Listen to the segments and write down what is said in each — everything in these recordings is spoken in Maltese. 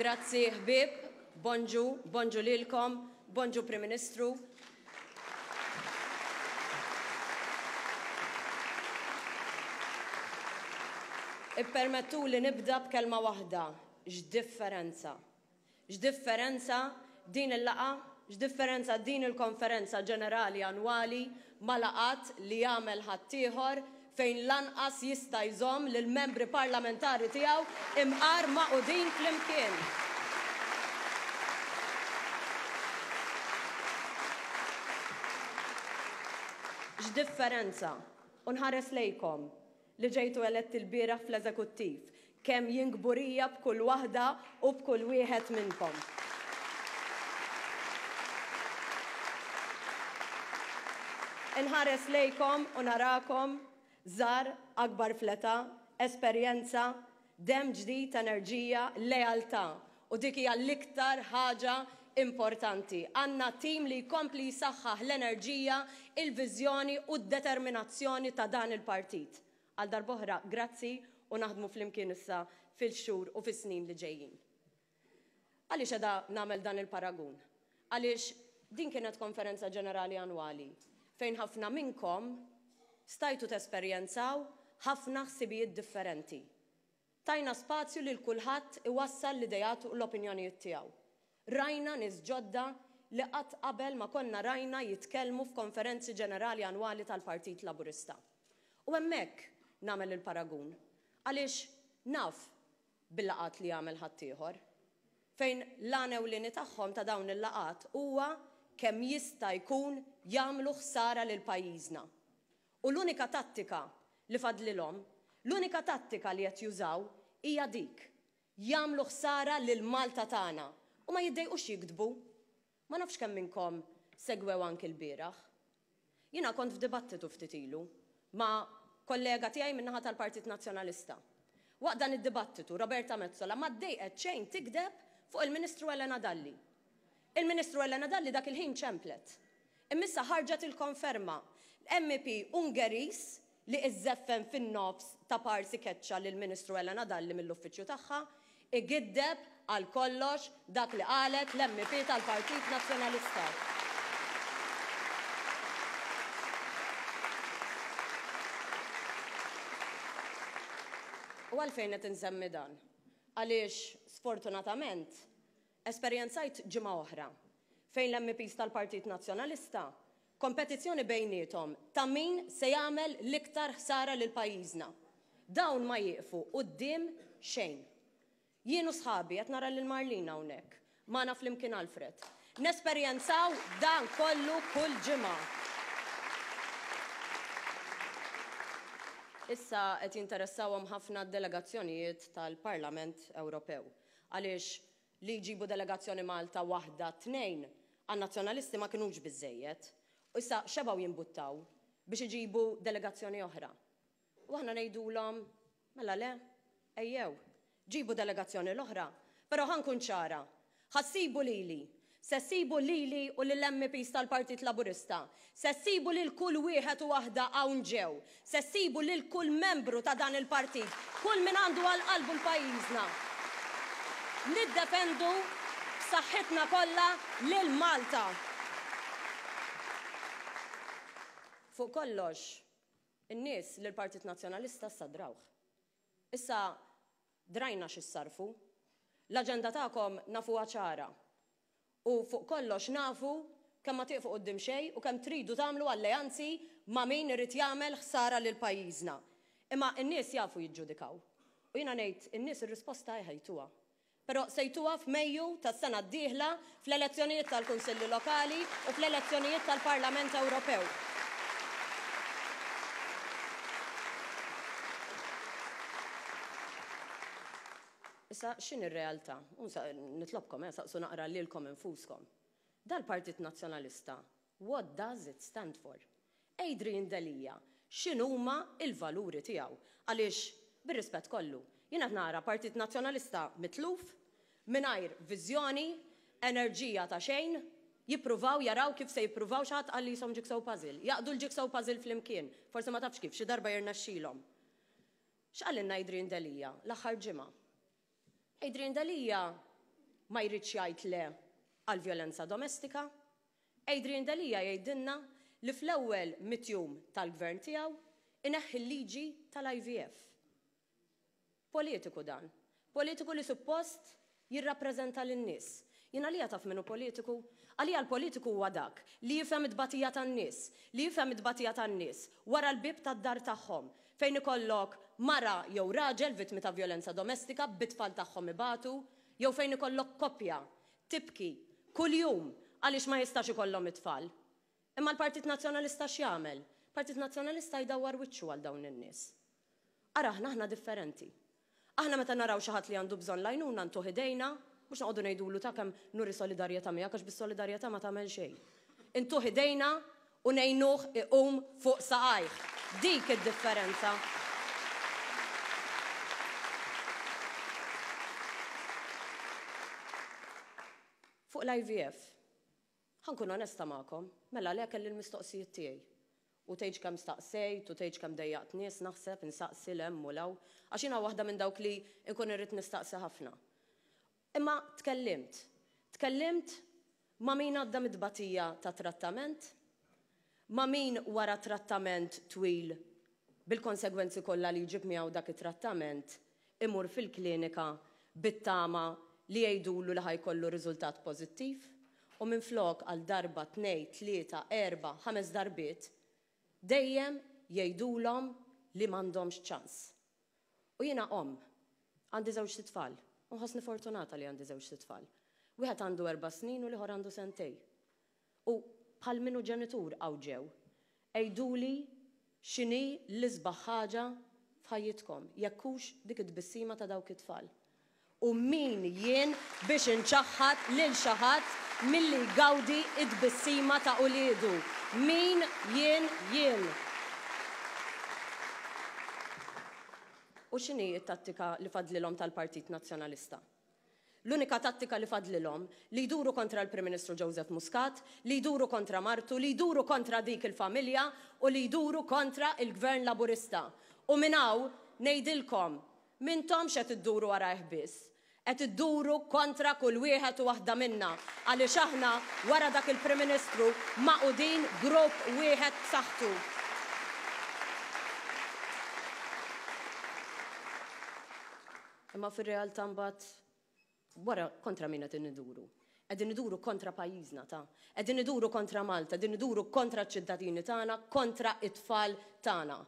Grazzi ħbieb, bonġu, bonġu lilkom, bonġu Prim Ministru. Ippermettuli nibda b'kelma waħda, x'differenza! X'differenza din il-laqgħa, x'differenza din il-konferenza ġenerali annwali ma' laqgħat li jagħmel ħaddieħor fejn lanqas jista' jżomm lill-membri parlamentari tiegħu imqar magħqudin flimkien. X'differenza! U nħares lejkom, li ġejtu eletti lbieraħ fl-Eżekuttiv, kemm jien kburija b'kull waħda u b'kull wieħed minnkom. Inħares lejkom u narakom, żgħar, akbar fl-età, esperjenza, demm ġdid, enerġija, lealtà. U dik hija l-iktar ħaġa importanti. Għandna tim li jkompli jsaħħaħ l-enerġija, il-viżjoni u d-determinazzjoni ta' dan il-partit. Għal darb'oħra, grazzi u naħdmu flimkien issa fil-xhur u fis-snin li ġejjin. Għaliex qiegħda nagħmel dan il-paragun? Għaliex din kienet konferenza ġenerali annwali fejn ħafna minnkom stajtu tesperjenzaw ħafna ħsibijiet differenti. Tajna spazju lil kulħadd iwassal l-ideat u l-opinjonijiet tiegħu. Rajna nies ġodda li qatt qabel ma konna rajna jitkellmu f'konferenzi ġenerali annwali tal-Partit Laburista. U hemmhekk nagħmel il-paragun, għaliex naf bil-laqgħat li jagħmel ħaddieħor, fejn l-għan ewlieni tagħhom ta' dawn il-laqgħat huwa kemm jista' jkun jagħmlu ħsara lil pajjiżna. U l-unika tattika li fadlilhom, l-unika tattika li qed jużaw hija dik, jagħmlu ħsara lil Malta tagħna u ma jiddejqux jigdbu. Ma nafx kemm minnkom segwew anki lbieraħ. Jiena kont f'dibattitu ftit ilu ma' kollega tiegħi min-naħa tal-Partit Nazzjonalista. Waqt dan id-dibattitu Roberta Metsola ma ddejqet xejn tigdeb fuq il-Ministru Elena Dalli. Il-Ministru Elena Dalli dak il-ħin ċemplet. Imma issa ħarġet il-konferma. L-MEP Ungeriż li iżżeffen fin-nofs ta' parsi keċċa lill-Ministru Elena Dalli mill-uffiċċju tagħha, igiddeb għal kollox dak li qalet l-MEP tal-Partit Nazzjonalista. U għalfejn qed insemmi dan? Għaliex sfortunatament Esperjenzajt ġimgħa oħra fejn l-MEPs tal-Partit Nazzjonalista kompetizzjoni bejniethom ta' min se jagħmel l-iktar ħsara lil pajjiżna. Dawn ma jieqfu quddiem xejn. Jien u sħabi, qed nara lil Marlene hawnhekk, magħna flimkien Alfred, nesperjenzaw dan kollu kull ġimgħa. Issa qed jinteressawhom ħafna d-delegazzjonijiet tal-Parlament Ewropew. Għaliex li jġibu delegazzjoni Malta waħda, tnejn, għan-Nazzjonalisti ma kinux biżżejjed. U issa xebgħu jimbuttaw biex iġibu delegazzjoni oħra. U aħna ngħidulhom, mela le, ejjew, ġibu delegazzjoni l-oħra. Però ħa nkun ċara, Ħa ssibu lili. Se ssibu lili u lill-MEPs tal-Partit Laburista. Se ssibu lil kull wieħed u waħda hawn ġew. Se ssibu lil kull membru ta' dan il-partit, kull min għandu għal qalbu l-pajjiżna. Niddefendu b'saħħitna kollha lil Malta. Fuq kollox, in-nies lill-Partit Nazzjonalista issa drawh. Issa drajna x'issarrfu. L-aġenda tagħkom nafuha ċara. U fuq kollox nafu kemm ma tieqfu quddiem xejn u kemm tridu tagħmlu alleanzi ma' min irid jagħmel ħsara lil pajjiżna. Imma n-nies jafu jiġġudikaw. U jiena ngħid in-nies ir-risposta jtuha. Però se jtuha f'Mejju tas-sena d-dieħla fl-elezzjonijiet tal-Kunsilli Lokali u fl-elezzjonijiet tal-Parlament Ewropew. Issa x'inhi r-realtà? U nitlobkom, eh, saqsu naqra lilkom infuskom. Dal-Partit Nazzjonalista, what does it stand for? Adrian Delia, x'inhuma l-valuri tiegħu? Għaliex, bir-rispett kollu, jien qed nara Partit Nazzjonalista mitluf, mingħajr viżjoni, enerġija ta' xejn, jippruvaw jaraw kif se jippruvaw, xi ħadd qal li qishom jigsaw puzzle, jgħaqqdu l-jigsaw puzzle flimkien, forsi ma tafx kif, xi darba jirnexxilhom. X'qalilna Adrian Delia l-aħħar ġimgħa? Adrian Delia. ma jridx jgħid le għall-vjolenza domestika. Adrian Delia jgħidilna li fl-ewwel mitt jum tal-Gvern tiegħu ineħħi l-liġi tal-IVF. Politiku dan. Politiku li suppost jirrappreżenta lin-nies. Jien għalija taf min hu politiku? Għalija l-politiku huwa dak li jifhem it-tbatija tan-nies, li jifhem it-tbatija tan-nies wara l-bieb tad-dar tagħhom, fejn ikollok mara jew raġel vittmi ta' vjolenza domestika bit-tfal tagħhom ibatu, jew fejn ikollok koppja tibki kuljum għaliex ma jistax ikollhom it-tfal. Imma l-Partit Nazzjonalista x'jagħmel? Partit Nazzjonalista jdawwar wiċċu għal dawn in-nies. Ara aħna, aħna differenti. Aħna meta naraw xi ħadd li għandu bżonn l-għajnuna ntuh idejna, mhux noqogħdu ngħidulu ta' kemm nuri solidarjetà miegħek għax bis-solidarjetà ma tagħmel xejn. Intuh idejna u ngħinuh iqum fuq saqajh. Dik id-differenza. Fuq l-IVF, Ħa nkun onesta magħkom, mela le kelli l-mistoqsijiet tiegħi. U tgħidx kemm staqsejt u tgħidx kemm dejjaqt nies naħseb, insaqsi 'l hemm u 'l hawn, għax jiena waħda minn dawk li nkun irrid nistaqsi ħafna. Imma tkellimt. Tkellimt ma' min għadda mit-tbatija ta' trattament, ma' min wara trattament twil bil-konsegwenzi kollha li jġib miegħu dak it-trattament imur fil-klinika bit-tama li jgħidulu li ħa jkollu riżultat pożittiv u minflok għal darba, tnej, tlieta, erbgħa, ħames darbiet, dejjem jgħidulhom li m'għandhomx ċans. U jiena omm, għandi żewġt itfal, u nħossni fortunata li għandi żewġt itfal. Wieħed għandu erba' snin u l-ieħor għandu sentej. U bħal min hu ġenitur hawn ġew. Għiduli x'inhi l-isbaħ ħaġa f'ħajjitkom, jekk hux dik it-tbissima ta' dawk it-tfal. U min jien biex inċaħħad lil xi ħadd milli jgawdi t-tbissima ta' uliedu? Min jien jien? U x'inhi t-tattika li fadlilhom tal-Partit Nazzjonalista? L-unika tattika li fadlilhom, li jduru kontra l-Prim Ministru Joseph Muscat, li jduru kontra martu, li jduru kontra dik il-familja u li jduru kontra il-Gvern Laburista. U minn hawn ngħidilkom, m'intomx qed idduru warajh biss, qed idduru kontra kull wieħed u waħda minna għaliex aħna wara dak il-Prim Ministru magħqudin grupp wieħed b'saħħtu. Imma fir-realtà mbagħad wara kontra min qed iduru? Qegħdin iduru kontra pajjiżna ta'. Qegħdin iduru kontra Malta, qegħdin iduru kontra ċ-ċittadini tagħna, kontra it-tfal tagħna.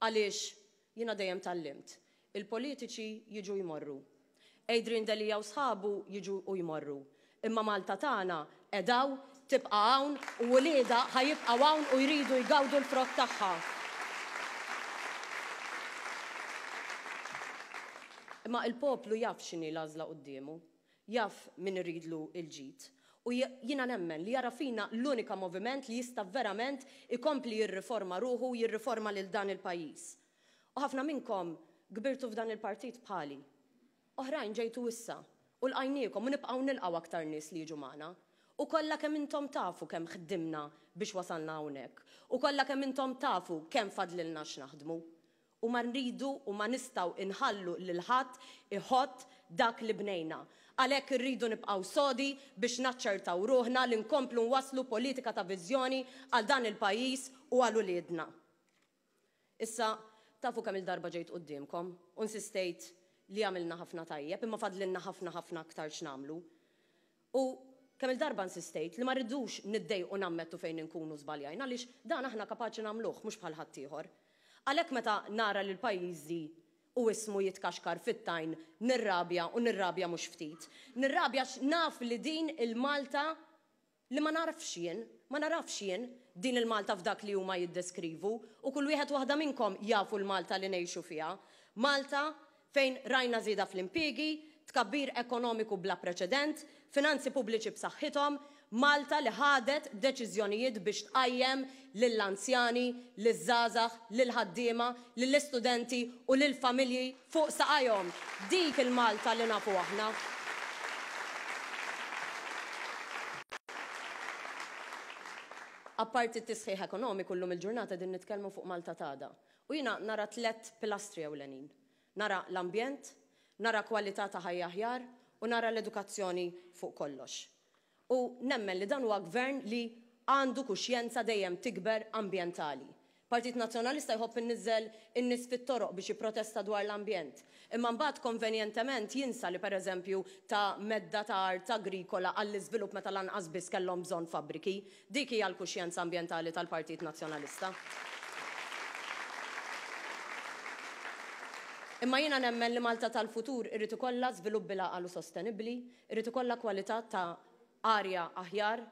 Għaliex jiena dejjem tgħallimt, il-politiċi jiġu jmorru. Adrian Delia u sħabu jiġu u jmorru. Imma Malta tagħna qiegħda hawn, tibqa' hawn u uliedha ħa jibqgħu hawn u jridu jgawdu l-frott tagħha. Imma il-poplu jaf x'inhi l-għażla quddiemu, jaf min iridlu l-ġid. U jiena nemmen li jara fina l-unika moviment li jista' verament ikompli jirriforma ruħu u jirriforma lil dan il-pajjiż. U ħafna minnkom kbirtu f'dan il-partit bħali. Oħrajn ġejtu issa, u lqajniekom u nibqgħu nilqgħu aktar nies li jiġu magħna. U kollha kemm intom tafu kemm ħdimna biex wasalna hawnhekk. U kollha kemm intom tafu kemm fadlilna x'naħdmu. U ma rridu u ma nistgħu inħallu lil ħadd iħott dak li bnejna. Għalhekk irridu nibqgħu sodi biex naċċertaw ruħna li nkomplu nwasslu politika ta' viżjoni għal dan il-pajjiż u għal uliedna. Issa, tafu kemm-il darba ġejt quddiemkom u nsistejt li għamilna ħafna tajjeb, imma fadlilna ħafna ħafna aktar x'nagħmlu. U kemm-il darba nsistejt li ma rridux niddejqu nammettu fejn inkunu żbaljajna għaliex dan aħna kapaċi nagħmluh mhux bħal ħaddieħor. Għalhekk meta nara lil pajjiżi u ismu jitkaxkar fit-tajn nirrabja u nirrabja mhux ftit. Nirrabja għax naf li din il-Malta Li ma nagħrafx jien, ma nagħrafx jien din il-Malta f'dak li huma jiddeskrivu u kull wieħed u waħda minnkom jafu l-Malta li ngħixu fiha. Malta fejn rajna żieda fl-impiegi, tkabbir ekonomiku bla preċedent, finanzi pubbliċi b'saħħithom, Malta li ħadet deċiżjonijiet biex tqajjem lill-anzjani, liż-żgħażagħ, lill-ħaddiema, lill-istudenti u lill-familji fuq saqajhom. Dik il-Malta li nafu aħna. Apparti t-tisħiħ ekonomiku llum il-ġurnata qegħdin nitkellmu fuq Malta t'għada. U jiena nara tlett pilastri ewlenin. Nara l-ambjent, nara kwalità ta' ħajja aħjar u nara l-edukazzjoni fuq kollox. U nemmen li dan huwa gvern li għandu kuxjenza dejjem tikber ambjentali. Partit Nazzjonalista jħobb inniżżel in-nies fit-toroq biex jipprotesta dwar l-ambjent. Imma mbagħad konvenjentement jinsa li pereżempju ta medda ta' art agrikola għall-iżvilupp meta lanqas biss kellhom bżonn fabbriki. Dik hija l-kuxjenza ambjentali tal-Partit Nazzjonalista. Imma jiena nemmen li Malta tal-futur irid ikollha żvilupp bil-għaqal u sostenibbli, irid ikollha kwalità ta' arja aħjar,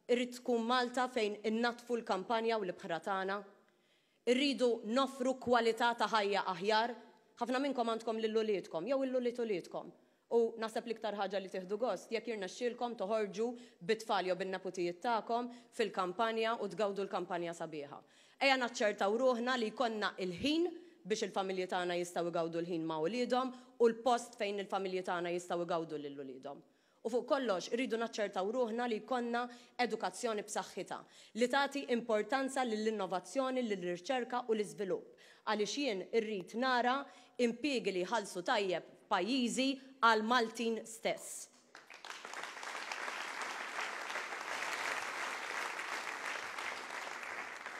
irid tkun Malta fejn innaddfu l-kampanja u l-ibħra tagħna. Irridu noffru kwalità ta' ħajja aħjar. Ħafna minnkom għandkom lil uliedkom jew 'il ulied uliedkom. U naħseb l-iktar ħaġa li tieħdu gost jekk jirnexxielkom toħorġu bit-tfal jew bin-neputijiet tagħkom fil-kampanja u tgawdu l-kampanja sabiħa. Ejja naċċertaw ruħna li jkollna l-ħin biex il-familji tagħna jistgħu jgawdu l-ħin ma' uliedhom u l-post fejn il-familji tagħna jistgħu jgawdu lil uliedhom. U fuq kollox, irridu naċċertaw ruħna li jkollna edukazzjoni b'saħħitha, li tagħti importanza lill-innovazzjoni, lir-riċerka u l-iżvilupp, għaliex jien irrid nara impiegi li jħallsu tajjeb f'pajjiżi għall-Maltin stess.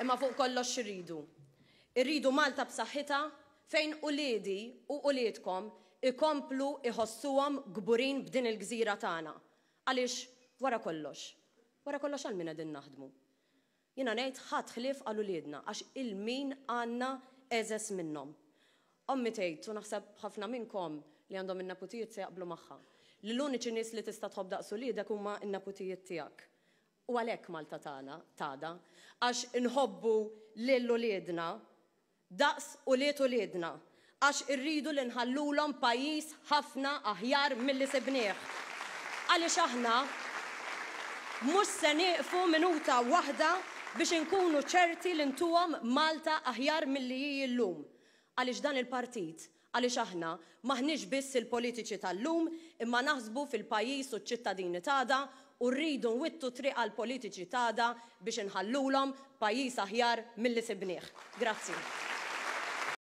Imma fuq kollox x'irridu? Irridu Malta b'saħħitha fejn uliedi u uliedkom ikomplu jħossuhom kburin b'din il-gżira tagħna. Għaliex, wara kollox, wara kollox għal min qegħdin naħdmu? Jiena ngħid ħadd ħlief għal uliedna għax 'il min għandna egħżeż minnhom. Ommi tgħid, u naħseb ħafna minnkom li għandhom in-neputijiet se jaqblu magħha, li l-uniċi nies li tista' tħobb daqs uliedek huma n-neputijiet tiegħek. U għalhekk Malta tagħna t'għada, għax inħobbu lil uliedna daqs ulied uliedna, għax irridu li nħallulhom pajjiż ħafna aħjar milli sibnieh. Għaliex aħna mhux se nieqfu minuta waħda biex inkunu ċerti li ntuhom Malta aħjar milli hi llum. Għaliex dan il-partit, għaliex aħna, m'aħniex biss il-politiċi tal-lum imma naħsbu fil-pajjiż u ċ-ċittadini t'għada u rridu nwittu t-triq għall-politiċi t'għada biex inħallulhom pajjiż aħjar milli sibnieh. Grazzi.